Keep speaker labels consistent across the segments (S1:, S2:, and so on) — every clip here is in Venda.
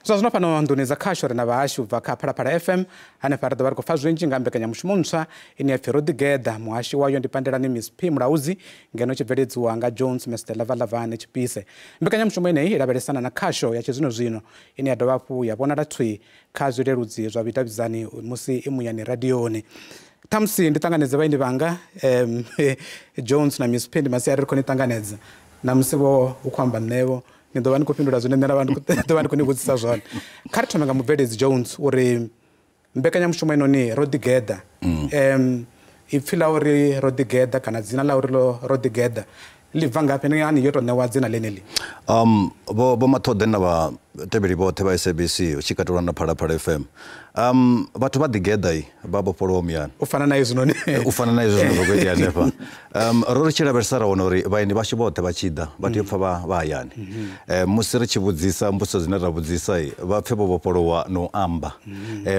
S1: Zwa zwino fhano nḓuni dza khasho ri na vhahashu u bva kha Phalaphala FM hanefha ri ḓo vha ri khou pfa zwinzhi nga mbekanyamushumo ntswa ine ya pfhi Ro Ḓigeḓa. Muhashi wayo ndi Pandelani Miss P Mulaudzi, ngeno tshi bveledziwa nga Jones Mr Lavalavane Tshipise. Mbekanyamushumo ineyi i lavhelesana na khasho ya tshizwinozwino ine ya dovha hafhu ya vhonala thwi kha zwileludzi zwa vhudavhidzani musi i muyani radioni. Ṱhamusi ndi ṱanganedze vhaeni vhanga Jones na Miss P, ndi masiari ri khou ni ṱanganedza. Na musi vho u khou amba nṋevho ni ḓo vha ni khou fhindula zwine nṋe nda vha ḓo vha ndi khou ni vhudzisa zwone. Kha ri thome nga mubveledzi Jones uri mbekanyamushumo inoni Ro Ḓigeḓa, ipfi ḽa uri Ro Ḓigeḓa kana dzina ḽa uri Ro Ḓigeḓa ḽi bva ngafhi? Ndi ngani yo tou ṋewa dzina ḽeneḽi?
S2: Vho Maṱhoḓe na vhatevheli vhoṱhe vha SABC hu tshi katelwa na Phalaphala FM, vhathu vha ḓigeḓa vha vhofholowa muyani.
S1: U fana na hezwinoni.
S2: U fana na hezwi zwine zwa khou itea hanefha. Ro ri tshi lavhelesa ra wana uri vhaeni vhashu vhoṱhe vha tshi ḓa vha tea u pfha vha hayani. Musi ri tshi vhudzisa mbudziso dzine ra vhudzisa vha pfhe vho vhofholowa na u amba,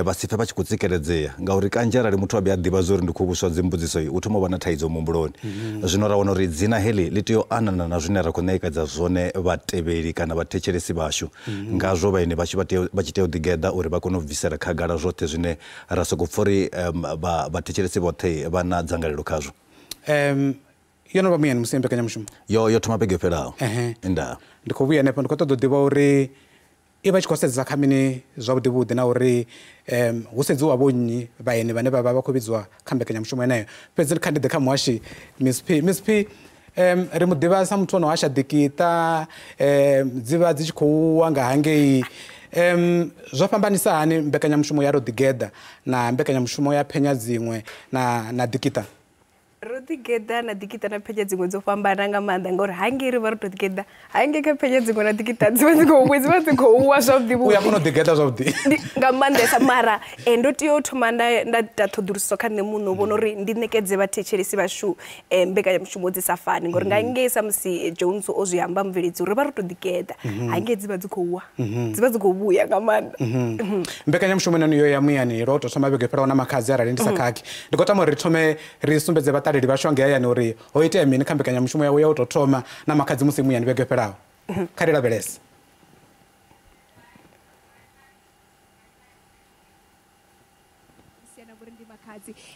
S2: vha si pfhe vha tshi khou tsikeledzea, ngauri kanzhi arali muthu a vhuya a ḓivha zwa uri ndi khou vhuswa dzimbudziso u thoma u vha na thaidzo muhumbuloni. Zwino ra wana uri dzina heḽi ḽi tea u anana na zwine ra khou ṋekedza zwone vhatevheli kana vhathetshelesi vhashu. Ngazwo vhaeni vhashu vha tshi tea u ḓigeḓa uri vha kone u bvisela khagala zwoṱhe zwine ra sokou pfha uri vhathetshelesi vhoṱhe vha na dzangalelo khazwo.
S1: Yo no vha muyani musi mbekanyamushumo?
S2: Yo thoma vhege yo fhelaho. Ndaa.
S1: Ndi khou vhuya hanefho, ndi khou ṱoḓa u ḓivha uri i vha tshi khou sedza kha mini zwavhuḓi vhuḓi, na uri hu sedziwa vho nnyi vhaeni vhane vha vha vha khou vhidziwa kha mbekanyamushumo yeneyo. Fhedzi kha ndi ḓe kha muhashi Miss P. Miss P, ri mu ḓivha sa muthu ono hasha ḓikiṱa, dzi vha dzi tshi khou wa nga hangei. Zwo fhambanisa hani mbekanyamushumo ya Ro Ḓigeḓa na mbekanyamushumo ya Phenya Dziṅwe na Ḓikiṱa?
S3: Ro Ḓigeḓa na Ḓikiṱa na Phenya Dziṅwe dzo fhambana nga maanḓa, ngori hangei ri vha ro tou ḓigeḓa, hangei kha Phenya Dziṅwe na Ḓikiṱa dzi vha dzi khou dzi vha dzi khou wa zwavhuḓi
S1: vhuḓi. U ya kona u ḓigeḓa zwavhuḓi
S3: nga maanḓesa. Mara ndo tea u thoma nda ita ṱhoḓuluso kha nṋe muṋe u vhona uri ndi ṋekedze vhathetshelesi vhashu mbekanyamushumo dzi sa fani, ngori nga ngei sa musi Jones o zwi amba mubveledzi uri vha ro tou ḓigeḓa, hangei dzi vha dzi khou wa, dzi vha dzi khou vhuya nga maanḓa.
S1: Mbekanyamushumo inoni yo ya muyani lwa u tou thoma vhege fhelaho na Makhadzi, arali ndi sa khakhi. Ndi khou tama uri ri thome ri sumbedze vhaṱaleli vhashu ngei hayani uri ho itea mini kha mbekanyamushumo yawe ya u tou thoma na Makhadzi musi muyani vhege fhelaho. Kha ri lavhelese.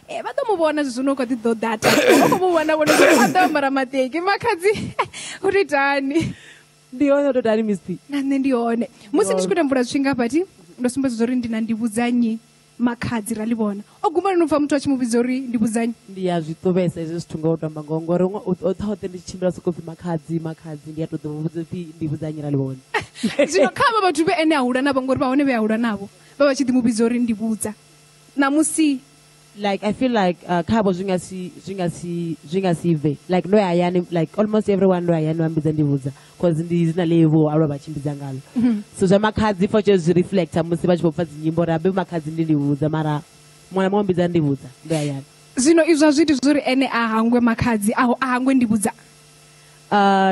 S4: Vha ḓo mu vhona zwino u kha ḓi ḓo data. Vha khou mu vhona vhone zwino a ḓo ambara maṱeki. Makhadzi u tou itani?
S5: Ndi hone, u tou itani Miss P?
S4: Na nṋe ndi hone. Musi ndi tshi khou ita mvula zwifhinga hafha, ndo sumbedza uri ndi na Ndivhudzannyi Makhadzi ra ḽi vhona. O guma lini u pfa muthu a tshi mu vhidza uri Ndivhudzannyi?
S5: Ndi ya zwi ṱuvhesa hezwi zwithu nga u tamba ngoho, ngori hoṱhe ndi tshi tshimbila sokou pfi Makhadzi, Makhadzi, ndi a tou ḓo vhudza upfi Ndivhudzannyi ra ḽi vhona.
S4: Zwino kha avha vhathu vhe ene a hula navho, ngori vha hone vhe a hula navho, vha vha tshi ḓi mu vhidza uri Ndivhudza. Ṋamusi
S5: like I feel like khavho zwi nga si zwi nga si zwi nga si bve, like ndo ya hayani, like almost everyone ndo ya hayani vha mbidza Ndivhudza, cause ndi dzina ḽe vho aluwa vha tshimbidza ngalo. So zwa Makhadzi for sure zwi reflector musi vha tshi vho pfa dzinyimbo uri abe Makhadzi ndi Ndivhudza, mara muṅwe na muṅwe mbidza Ndivhudza ndo ya hayani.
S4: Zwino izwo a zwi iti zwori ene a hangwe Makhadzi, a hangwe Ndivhudza?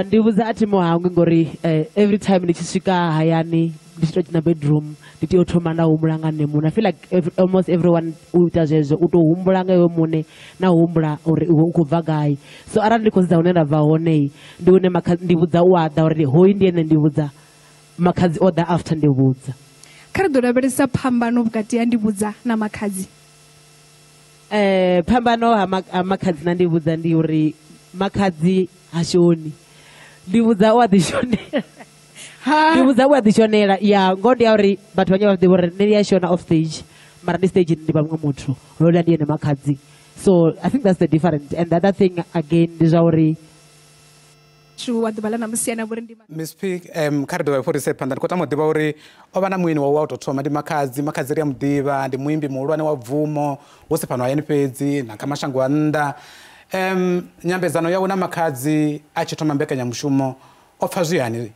S5: Ndivhudza a thi mu hangwi, ngori every time ndi tshi swika hayani ndi tshi tou dzhena bedroom ndi tea u thoma nda humbula nga nṋe muṋe. I feel like almost everyone u ita zwezwo, u tou humbula nga iwe muṋe na u humbula uri iwe u khou bva gai. So arali ndi khou sedza hune nda bva hone, ndi hune Ndivhudza u a ḓa uri hoyu ndi ene Ndivhudza, Makhadzi o ḓa after Ndivhudza.
S4: Kha ri ḓo lavhelesa phambano vhukati ha Ndivhudza na Makhadzi.
S5: Phambano ha Makhadzi na Ndivhudza ndi uri Makhadzi ha shoni, Ndivhudza u a ḓi shonela. Ndivhudza u a ḓi shonela. Ya ngoho ndi ya uri vhathu vhanzhi vha ḓivha uri nṋe ndi a shona off stage, mara ndi stage ndi vha muṅwe muthu, houḽa ndi ene Makhadzi. So I think that's the difference. And the other thing again ndi zwa uri
S4: wa ḓuvha ḽa ṋamusi ane a vha uri ndi
S1: Miss P, kha ri dovhe hafhu ri ise phanḓa. Ndi khou tama u ḓivha uri o vha na mueni wawe wa u tou thoma ndi Makhadzi. Makhadzi ri a mu ḓivha, ndi muimbi muhulwane wa bvumo, hu si fhano hayani fhedzi na kha mashango a nnḓa. Nyambedzano yawe na Makhadzi a tshi thoma mbekanyamushumo o pfa zwi hani?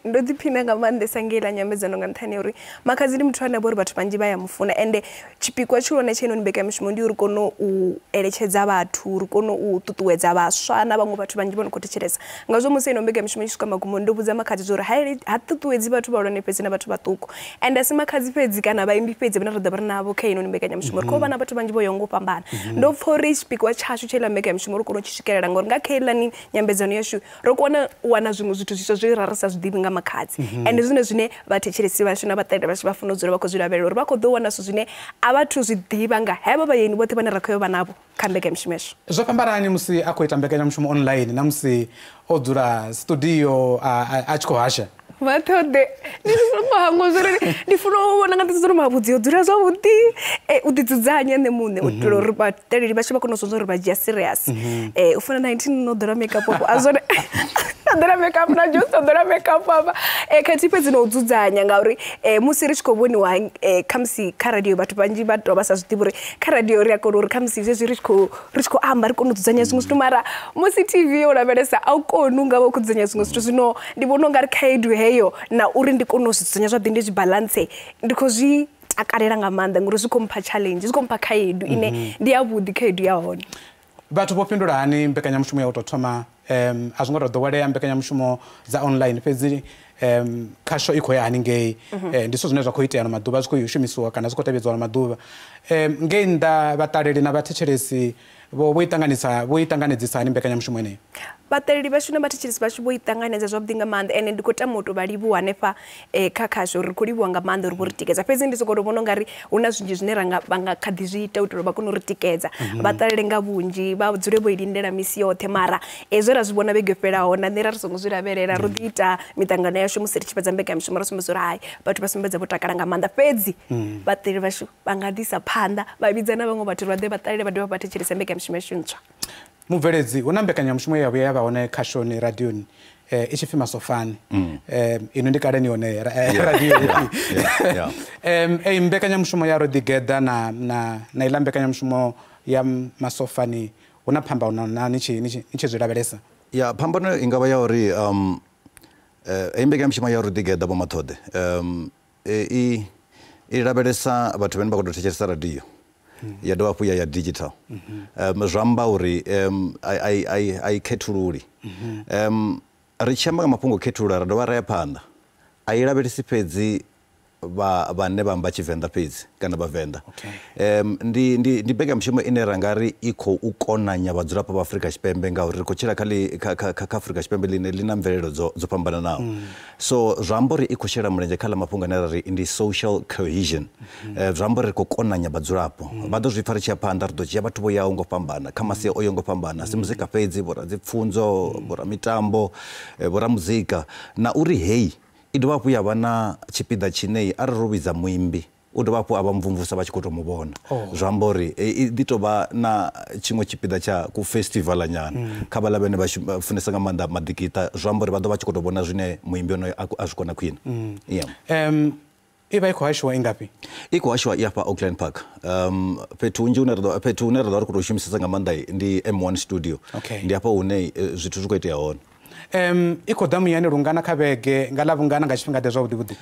S3: Ndo ḓiphina nga maanḓesa ngei ḽa nyambedzano, nga nṱhani ya uri Makhadzi ndi muthu ane a vha uri vhathu vhanzhi vha ya mufuna, ende tshipikwa tshihulwane tsha heinoni mbekanyamushumo ndi uri kone u eletshedza vhathu, ri kone u ṱuṱuwedza vhaswa na vhaṅwe vhathu vhanzhi vho no khou thetshelesa. Ngazwo musi ino mbekanyamushumo i tshi swika magumoni ndo vhudza Makhadzi zwa uri ha ṱuṱuwedzi vhathu vhahulwane fhedzi na vhathu vhaṱuku, ende a si Makhadzi fhedzi kana vhaimbi fhedzi vhane ra ḓo vha ri navho kha heinoni mbekanyamushumo, ri khou vha na vhathu vhanzhi vho yaho nga u fhambana. Ndo pfa uri tshipikwa tshashu tsha heiḽa mbekanyamushumo ri kone u tshi swikelela, ngori nga kha heiḽani nyambedzano yashu ro kona u wana zwiṅwe zwithu zwiswa zwe ra ri sa zwi ḓivhi. ḓivhi nga Makhadzi. Ende zwine zwine vhathetshelesi vhashu na vhaṱaleli vhashu vha funa u dzula vha khou zwi lavhelela uri vha khou ḓo wana zwithu zwine a vha thu zwi ḓivha nga hevho vhaeni vhoṱhe vhane ra khou yo vha navho kha mbekanyamushumo yashu.
S1: Zwo fhambanani musi a khou ita mbekanyamushumo online na musi o dzula studio a tshi khou hasha?
S3: Mathode ndi songo hangwa zwori ndi funa u vhona nga nḓila uri mavhudzi o dzula zwavhuḓi, u ḓi dzudzanya nṋe muṋe u itela uri vhaṱaleli vhashu vha kone u zwi uri vha dzhia serious. U funa 19 no ḓola makeup a zwone na ḓola makeup na Jones o ḓola makeup afha. Khathihi fhedzi no u dzudzanya ngauri musi ri tshi khou vhoniwa khamusi kha radio vhathu vhanzhi vha tou vha sa zwi ḓivhi uri kha radio ri a kona uri khamusi zwezwi ri tshi khou amba ri kone u dzudzanya zwiṅwe zwithu, mara musi TV yo lavhelesa a u koni u nga vha u khou dzudzanya zwiṅwe zwithu. Zwino ndi vhona u nga ri khaedu heyo na uri ndi kone u zwi dzudzanya zwavhuḓi ndi zwi balance ndi khou zwi takalela nga maanḓa ngori zwi khou mpha challenge, zwi khou mpha khaedu ine ndi yavhuḓi khaedu ya hone.
S1: Vhathu vho fhindula hani mbekanyamushumo ya u tou thoma? A zwo ngo tou ḓowelea mbekanyamushumo dza online, fhedzi khasho i khou ya haningei. Ndi zwithu zwine zwa khou itea ano maḓuvha, zwi khou shumisiwa kana zwi khou tevhedziwa ano maḓuvha. Ngei nnḓa vhaṱaleli na vhathetshelesi vho i ṱanganedzisa hani mbekanyamushumo yeneyo?
S3: Vhaṱaleli vhashu na vhathetshelesi vhashu vho i ṱanganedza zwavhuḓi nga maanḓa, ende ndi khou tama u tou vha livhuwa hanefha kha khasho uri ri khou livhuwa nga maanḓa uri vho ri tikedza. Fhedzi ndi sokou tou vhona ungari hu na zwinzhi zwine vha nga kha ḓi zwi ita u itela uri vha kone u ri tikedza. Vha ṱalele nga vhunzhi, vha dzule vho i lindela misi yoṱhe, mara zwe ra zwi vhona vhege yo fhelaho na nṋe ra ri songo zwi lavhelela. Ro ḓi ita miṱangano yashu musi ri tshi fhedza mbekanyamushumo ra sumbedza uri hai vhathu vha sumbedza vho takala nga maanḓa, fhedzi vhaṱaleli vhashu vha nga ḓisa phanḓa vha vhidza na vhaṅwe vhathu vha ḓe vha ṱalele vha dovhe vha thetshelese mbekanyamushumo yashu ntswa.
S1: Mubveledzi, hu na mbekanyamushumo ye ya vhuya ya vha hone khashoni radioni i tshi pfi Masofani. Ino ndi kale ni hone radioni. Eyi mbekanyamushumo ya Ro Ḓigeḓa na iḽa mbekanyamushumo ya Masofani hu na phambano na ni tshi zwi lavhelesa?
S2: Ya, phambano i nga vha ya uri eyi mbekanyamushumo ya Ro Ḓigeḓa Vho Mathode i lavhelesa vhathu vhane vha khou tou thetshelesa radio, ya dovha hafhu ya digital. Zwi amba uri a i khethululi. Ri tshi amba nga mafhungo o khethulula ra dovha ra ya phanḓa, a i lavhelesi fhedzi vhane vha amba Tshivenḓa fhedzi kana Vhavenḓa. Ndi mbekanyamushumo ine ra nga ri i khou konanya vhadzulapo vha Afrika Tshipembe ngauri ri khou tshila kha Afrika Tshipembe ḽine ḽi na mvelelo dzo fhambananaho. So zwi amba uri i khou shela mulenzhe kha ḽa mafhungo ane ra ri ndi social cohesion. Zwi amba uri ri khou konanya vhadzulapo. Vha ḓo zwi pfa ri tshi ya phanḓa, ri ḓo dzhia vhathu vho yaho ngo fhambana kha masia o yaho ngo fhambana, si muzika fhedzi, vho radzipfunzo, vho ramitambo, vho ramuzika, na uri heyi i dovha hafhu ya vha na tshipiḓa tshine arali ro vhidza muimbi u dovha hafhu a vha mvumvusa vha tshi khou tou mu vhona. Zwi amba uri i ḓi tou vha na tshiṅwe tshipiḓa tsha ku festival nyana kha vhaḽa vhane vha funesa nga maanḓa maḓikiṱa, zwi amba uri vha ḓo vha tshi khou tou vhona zwine muimbi onoyo a zwi kona khwine.
S1: I vha i khou hashiwa i ngafhi?
S2: I khou hashiwa i afha Auckland Park. Fhethu hunzhi hune ra ḓo vha ri khou tou shumisesa nga maanḓa ndi M1 studio. Ndi hafha hune zwithu zwi khou itea hone.
S1: I khou ḓa muyani lungana kha vhege, nga ḽavhungana nga tshifhinga ḓe zwavhuḓi vhuḓi?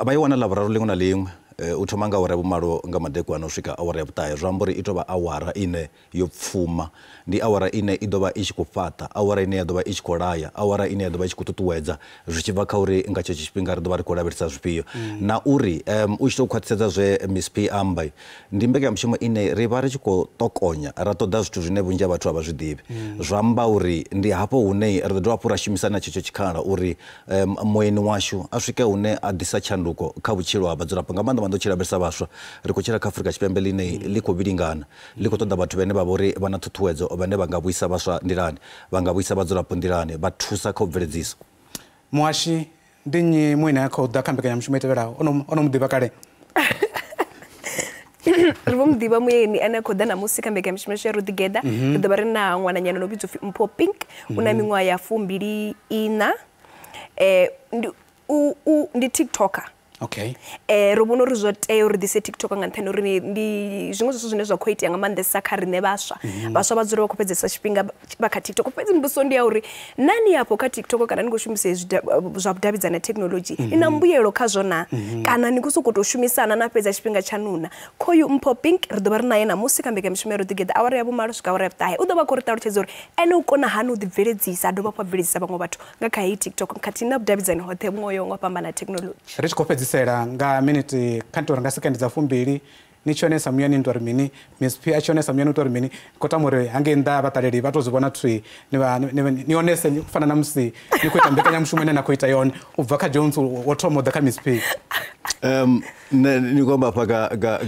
S2: Vha i wana Ḽavhuraru ḽiṅwe na ḽiṅwe, u thoma nga awara ya vhumalo nga madekwana u swika awara ya vhuṱahe. Zwi amba uri i tou vha awara ine yo pfuma, ndi awara ine i ḓo vha i tshi khou fhaṱa, awara ine ya ḓo vha i tshi khou laya, awara ine ya ḓo vha i tshi khou ṱuṱuwedza, zwi tshi bva kha uri nga tshetsho tshifhinga ri ḓo vha ri khou lavhelesa zwifhio. Na uri u tshi tou khwaṱhisedza zwe Miss P amba, ndi mbekanyamushumo ine ri vha ri tshi khou ṱokonya ra ṱoḓa zwithu zwine vhunzhi ha vhathu a vha zwi ḓivhi. Zwi amba uri ndi hafho hune ri ḓo dovha hafhu ra shumisa na tshetsho tshikhala uri mueni washu a swike hune a ḓisa tshanduko kha vhutshilo ha vhadzulapo, nga maanḓa maanḓa u tshi lavhelesa vhaswa. Ri khou tshila kha Afrika Tshipembe ḽine ḽi khou vhilingana, ḽi khou ṱoḓa vhathu vhane vha vha uri vha na ṱhuṱhuwedzo, vhane vha nga vhuisa vhaswa nḓilani, vha nga vhuisa vhadzulapo nḓilani, vha thusa kha u bveledzisa.
S1: Muhashi, ndi nnyi mueni a khou ḓa kha mbekanyamushumo i tevhelaho? O no mu ḓivha kale?
S3: Ri vho mu ḓivha mueni ane a khou ḓa ṋamusi kha mbekanyamushumo yashu ya Ro Ḓigeḓa. Ri ḓo vha ri na ṅwananyana no vhidzwa upfi Mpho Pink, u na miṅwaha ya 24. Ndi TikToker.
S1: Okay.
S3: Ro vhona uri zwo tea uri ḓise TikTok nga nṱhani uri ndi zwiṅwe zwithu zwine zwa khou itea nga maanḓesa kha riṋe vhaswa. Vhaswa vha dzula vha khou fhedzesa tshifhinga vha kha TikTok. Fhedzi mbudziso ndi ya uri nani afho kha TikTok kana ni khou shumisa zwa vhudavhidzani technology ni na mbuyelo khazwo na kana ni khou sokou tou shumisana na fhedza tshifhinga tshaṋu na. Khoyu Mpho Pink ri ḓo vha ri naye ṋamusi kha mbekanyamushumo ya Ro Ḓigeḓa awara ya vhumalo swika awara ya vhuṱahe. U ḓo vha khou ri ṱalutshedza uri ene u kona hani u ḓibveledzisa a dovha hafhu a bveledzisa vhaṅwe vhathu nga kha heyi TikTok khathihi na vhudavhidzani hoṱhe vhuṅwe ho yaho nga u fhambana ha technology.
S1: Ri tshi khou fhedzisela nga miniti kha nto nga sekendi dza 20 Ni tshi onesa muyani ntwa ri mini, Miss P a tshi onesa muyani ntwa ri mini. Khou tama uri hangei nnḓa vhaṱaleli vha to zwi vhona thwi ni onese u fana na musi ni khou ita mbekanyamushumo ine na khou ita yone u bva kha Jones wo thoma u ḓa kha Miss P.
S2: Ni khou amba hafha nga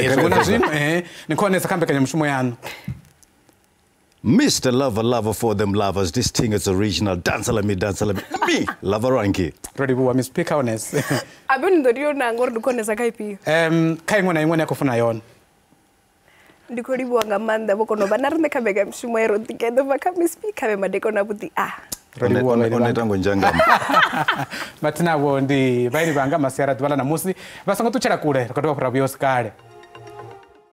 S2: madekwana
S1: zwino ni khou onesa kha mbekanyamushumo yaṋu.
S2: Mr. Lover, lover for them lovers. This thing is original. Dance like me, dance like me. Lover Ranky.
S1: Ro livhuwa Miss P kha onese.
S3: Abe ni ḓo tea u nanga uri ndi khou onesa kha ifhio?
S1: Kha iṅwe na iṅwe ine ya khou funa yone.
S3: Ndi khou livhuwa nga maanḓa vho kona u vha na riṋe kha mbekanyamushumo ya Ro Ḓigeḓa bva kha Miss P kha vhe madekwana avhuḓi a.
S1: Ro livhuwa vhaeni vhanga.
S2: O neta ngo nzhangama.
S1: Mathina avho ndi vhaeni vhanga masiari a ḓuvha ḽa ṋamusi. Vha songo ṱutshela kule, ri khou dovha hafhu ra vhuya hu si kale.